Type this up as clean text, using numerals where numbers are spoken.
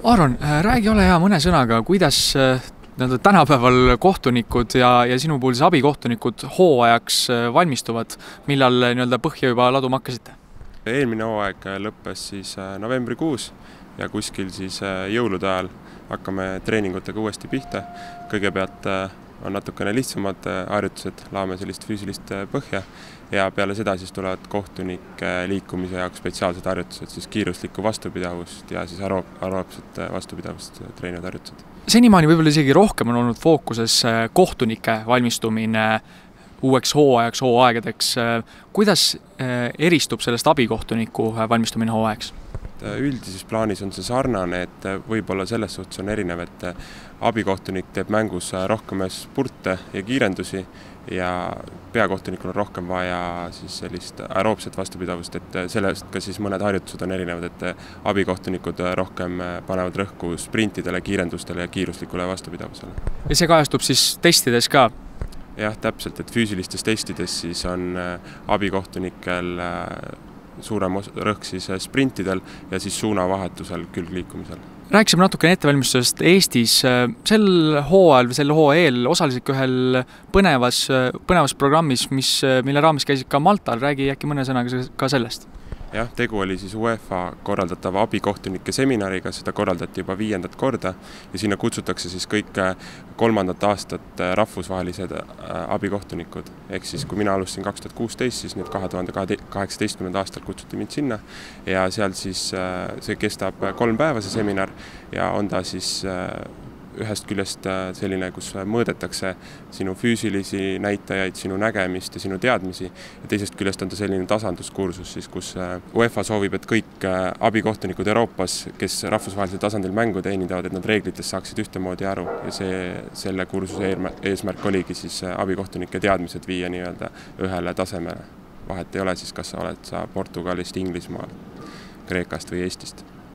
Aaron, räägi ole hea mõne sõnaga, kuidas tänapäeval kohtunikud ja sinu puhul siis abikohtunikud hooajaks valmistuvad, millal põhja juba laduma hakkasite? Eelmine hooaeg lõppes siis novembrikuus ja kuskil siis jõulude ajal hakkame treeningutega uuesti pihta. Kõigepealt on natukene lihtsamad harjutused, laame sellist füüsilist põhja ja peale seda siis tulevad kohtunike liikumise jaoks spetsiaalsed harjutused, siis kiiruslikku vastupidavust ja siis aeroobset vastupidavust treenivad harjutused. Senimaani võib-olla isegi rohkem on olnud fookuses kohtunike valmistumine uueks hooajaks, hooaegadeks. Kuidas eristub sellest abikohtuniku valmistumine hooajaks? Üldises plaanis on see sarnane, et võib-olla selles suhtes on erinev, et abikohtunik teeb mängus rohkem spurte ja kiirendusi ja peakohtunikul on rohkem vaja siis sellist aeroobset vastupidavust, et sellest ka siis mõned harjutused on erinevad, et abikohtunikud rohkem panevad rõhku sprintidele, kiirendustele ja kiiruslikule vastupidavusele. Ja see kajastub siis testides ka? Jah, täpselt, et füüsilistes testides siis on abikohtunikel suurem rõhk siis sprintidel ja siis suunavahetusel külgliikumisel. Rääkisime natukene ettevalmistusest Eestis. Sel hooajal või selle hooaja eel osalesid ühel põnevas programmis, mille raames käisid ka Maltal. Räägi äkki mõne sõnaga ka sellest. Jah, tegu oli siis UEFA korraldatava abikohtunike seminariga, seda korraldati juba 5. korda ja sinna kutsutakse siis kõik 3. aastat rahvusvahelised abikohtunikud. Ehk siis kui mina alustasin 2016, siis nüüd 2018. aastal kutsuti mind sinna ja seal siis see kestab 3 päeva see seminar ja on ta siis ühest küljest selline, kus mõõdetakse sinu füüsilisi näitajaid, sinu nägemist ja sinu teadmisi ja teisest küljest on ta selline tasanduskursus, siis, kus UEFA soovib, et kõik abikohtunikud Euroopas, kes rahvusvahelisel tasandil mängu teenindavad, et nad reeglitest saaksid ühtemoodi aru ja selle kursuse eesmärk oligi siis abikohtunike teadmised viia nii-öelda ühele tasemele. Vahet ei ole siis, kas sa oled Portugalist, Inglismaal, Kreekast või Eestist.